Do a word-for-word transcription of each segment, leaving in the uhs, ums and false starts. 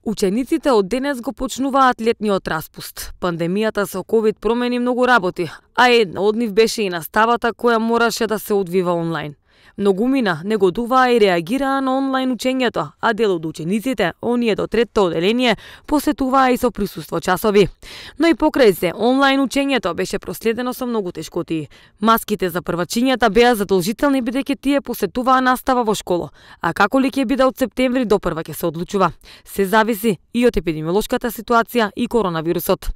Учениците од денес го почнуваат летниот распуст. Пандемијата со ковид промени многу работи, а една од нив беше и наставата која мораше да се одвива онлайн. Многумина не годуваа и реагираа на онлайн учењето, а дел од учениците, оние до третото оделение, посетуваа и со присуство часови. Но и покрај се, онлайн учењето беше проследено со многу тешкотии. Маските за првачињата беа задолжителни бидејќи тие посетуваа настава во школа, а како ли ќе биде од септември до прва ќе се одлучува. Се зависи и од епидемиолошката ситуација и коронавирусот.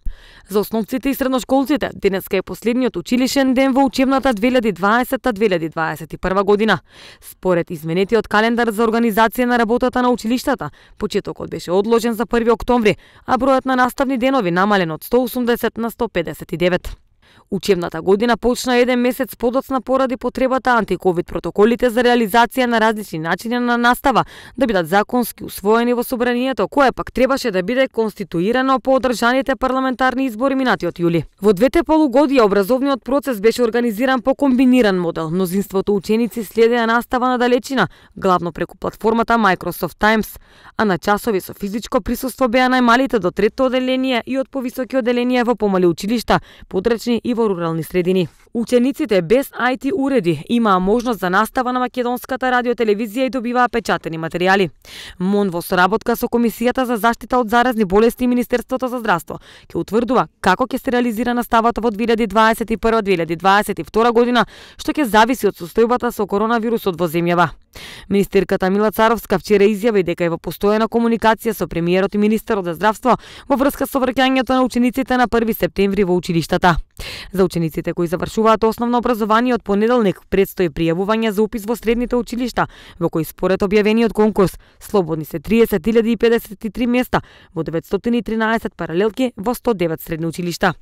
За основците и средношколците, денеска е последниот училишен ден во учебната две илјади дваесета две илјади дваесет и прва година. Според изменетиот календар за организација на работата на училиштата, почетокот беше одложен за први октомври, а бројот на наставни денови намален од сто осумдесет на сто педесет и девет. Учебната година почна еден месец подоцна поради потребата антиковид протоколите за реализација на различни начини на настава да бидат законски усвоени во собранието, кое пак требаше да биде конституирано по одржаните парламентарни избори минатиот јули. Во двете полугодија образовниот процес беше организиран по комбиниран модел. Мнозинството ученици следеа настава на далечина, главно преку платформата Microsoft Teams, а на часови со физичко присуство беа најмалите до трето оделение и од повисоки оделенија во помали училишта, подречни и во рурални средини. Учениците без ај ти уреди имаа можност за настава на македонската радиотелевизија и добиваа печатени материјали. МОН во соработка со Комисијата за заштита од заразни болести и Министерството за здравство ќе утврдува како ќе се реализира наставата во две илјади дваесет и прва - две илјади дваесет и втора година, што ќе зависи од состојбата со коронавирусот во земјава. Министерката Мила Царовска вчера изјави дека е во постојана комуникација со премиерот и министерот за здравство во врска со враќањето на учениците на први септември во училиштата. За учениците кои завршуваат основно образование од понеделник предстои пријавување за упис во средните училишта, во кои според објавениот конкурс слободни се триесет илјади и педесет и три места во деветстотини и тринаесет паралелки во сто девет средни училишта.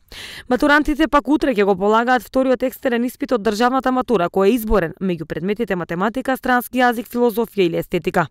Матурантите пак утре ќе го полагаат вториот екстерен испит од државната матура, кој е изборен меѓу предметите математика, странски јазик, филозофија или естетика.